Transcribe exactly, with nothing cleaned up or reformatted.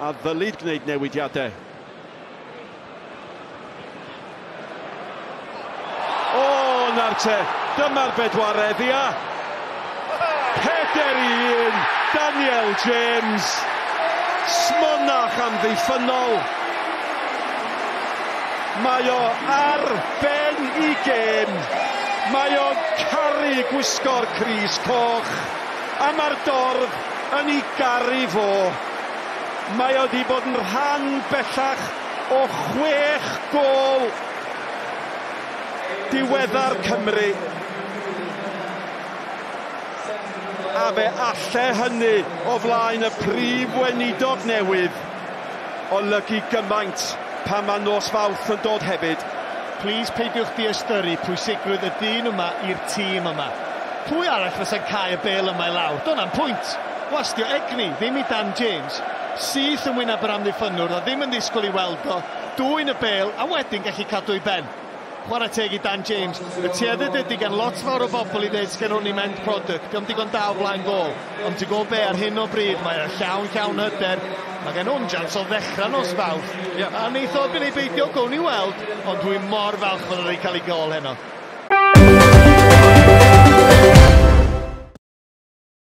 A ddylid gwneud newidiadau. O, na'r te, dyma'r bedwaredd, ia. Peder i un, Daniel James. Smonach amddiffynnol. Mae o ar ben i gêm. Mae o'n caru gwisgo'r crys coch. A mae'r dorf yn ei garu fo. Mae o wedi bod yn rhan bellach o chwech gôl diweddar Cymru. A fe alle hynny o flaen y prif weinidog newydd olygu gymaint pan mae nos Fawrth yn dod hefyd. Plis peidiwch diystyru pwysigrwydd y dyn yma i'r tîm yma. Pwy arall fysa'n cael y bêl yma i lawr? Do'n pwynt. Wastio egni, ddim i Dan James. Syth yn wyneb yr amddiffynnwr, a ddim yn ddisgwyl i weld o. Dwyn y bêl, a wedyn gallu cadw ei ben. Chwarae teg i Dan James. Y tueddiad ydy gan lot fawr o bobl i ddeud sgen hwn i'm end product. Dio'm digon da o flaen gôl. Ond ti'n gwybod be, ar hyn o bryd, mae o'n llawn llawn hyder. Mae gen hwn jans o ddechrau nos Fawrth. Yeah. A neith o byn ei beidio, gown ni weld. Ond dwi'n mor falch fod o wedi cael ei gôl heno.